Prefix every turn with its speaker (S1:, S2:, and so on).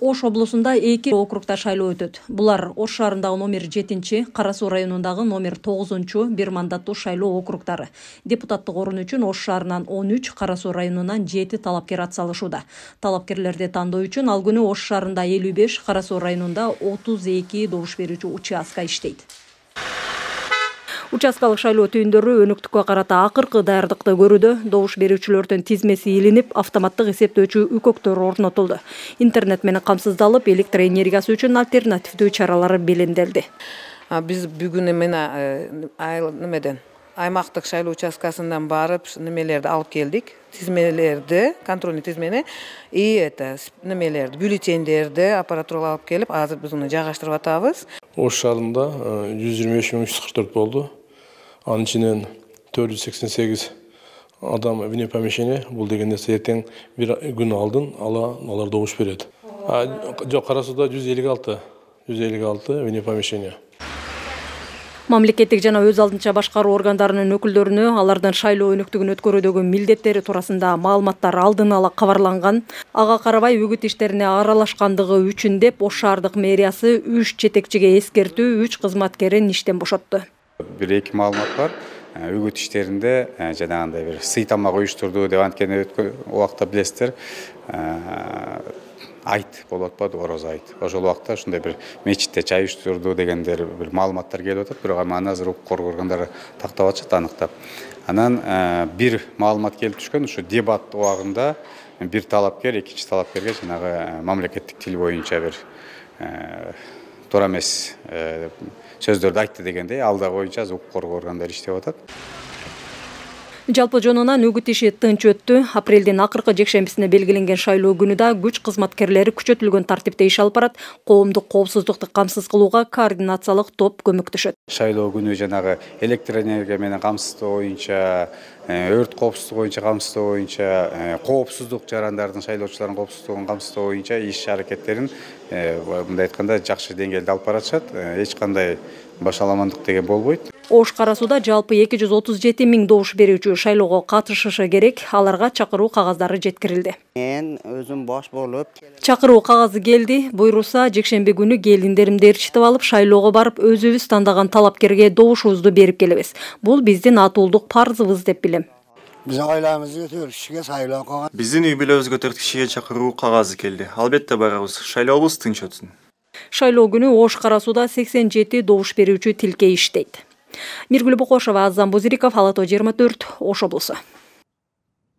S1: Ош облусунда 2 округда шайлоо өтөт. Булар Ош шаарындагы номер 7, Кара Суу районундагы номер 9 бир мандаттуу шайлоо округдары. Депутаттык орун үчүн Ош шаарынан 13, Кара Суу районунан 7 талапкер ат салышууда. Талапкерлерди тандоо үчүн ал күнү Ош шаарында 55, Кара Суу районунда 32 добуш берүүчү участка иштейт. Участкалык шайлоо түйүндөрү өнөктүккө карата акыркы даярдыкты көрүүдө. Добуш берүүчүлөрдүн тизмеси илинип, автоматтык эсептөөчү үкөктөр орнотулду. Интернет менен камсыздалып, электр энергиясы үчүн альтернативдүү чаралар беленделди.
S2: Биз бүгүн немеден аймактык шайлоо участкасынан барып немелерди алып келдик. Тизмелерди, контрольный тизмени немелерди, бюллетендерди аппаратурага алып келип, азыр биз уну жайгаштырып атабыз.
S3: Ош шаарында 125.344 болду. Анын ичинен 488 адам вне помещения. Бул деген нерсе эртең бир күн алдын алар добуш берет. Жок, Кара Сууда 156 вне помещения.
S1: Мамлекеттик жана өз алдынча башкаруу органдарынын өкүлдөрүнө алардын шайлоо өнөктүгүн өткөрүүдөгү милдеттери туурасында маалыматтар алдын ала кабарланган. Ага карабай үгүт иштерине аралашкандыгы үчүн деп Ош шаардык мэриясы 3 жетекчиге эскертүү, 3 кызматкерин иштен бошотту.
S4: Бир-эки маалымат бар. Үгүт иштеринде жанагындай бир сый тамак уюштурду деп анткени өткөн убакта билесиздер. Айт болуп атпады, ороз айт. Ошол убакта ушундай бир мечитте чай уюштурду дегендер бир маалыматтар келип атат, бирок аны азыр укук коргоо органдары тактап атышат, аныктап. Анан бир маалымат келип түшкөн, ушу дебат убагында бир талапкер экинчи талапкерге жанагы мамлекеттик тил боюнча бир туура эмес сөздөрдү айтты дегендей, ал да боюнча укук коргоо органдары иштеп атат.
S1: Жалпы жонунан үгүт иши тынч өттү. Апрелдин акыркы жекшембисине белгиленген шайлоо күнү да күч кызматкерлери күчөтүлгөн тартипте иш алып барат. Коомдук коопсуздукту камсыз кылууга координациялык топ көмөктөшөт.
S4: Шайлоо күнү жанагы электроэнергия менен камсыздоо боюнча, өрт коопсуздугу боюнча камсыздоо боюнча, коопсуздук жарандардын, шайлоочулардын коопсуздугун камсыздоо боюнча иш аракеттерин мындай айтканда жакшы деңгээлде алып баратышат. Эч кандай башаламандык деген болбойт.
S1: Ош Кара Сууда жалпы 237 000 добуш берүүчү шайлоого катышышы керек. Аларга чакыруу кагаздары жеткирилди.
S5: Мен өзүм бош болуп,
S1: чакыруу кагазы келди. Буйруса, жекшемби күнү келиндеримди ээрчитип алып, шайлоого барып, өзүбүз тандаган талапкерге добушубузду берип келебиз. Бул биздин атуулдук парзыбыз деп билем.
S5: Биз айлабызды төрт кишиге шайлоо кылган.
S6: Биздин үй бүлөбүзгө 4 кишиге чакыруу кагазы келди. Албетте барабыз. Шайлообуз тынч өтсүн.
S1: Шайлоо күнү Ош Кара Сууда 87 добуш берүүчү тилке иштейт. Миргүл Бокошова, Азам Бузириков, Ала Тоо 24, Ош облусу.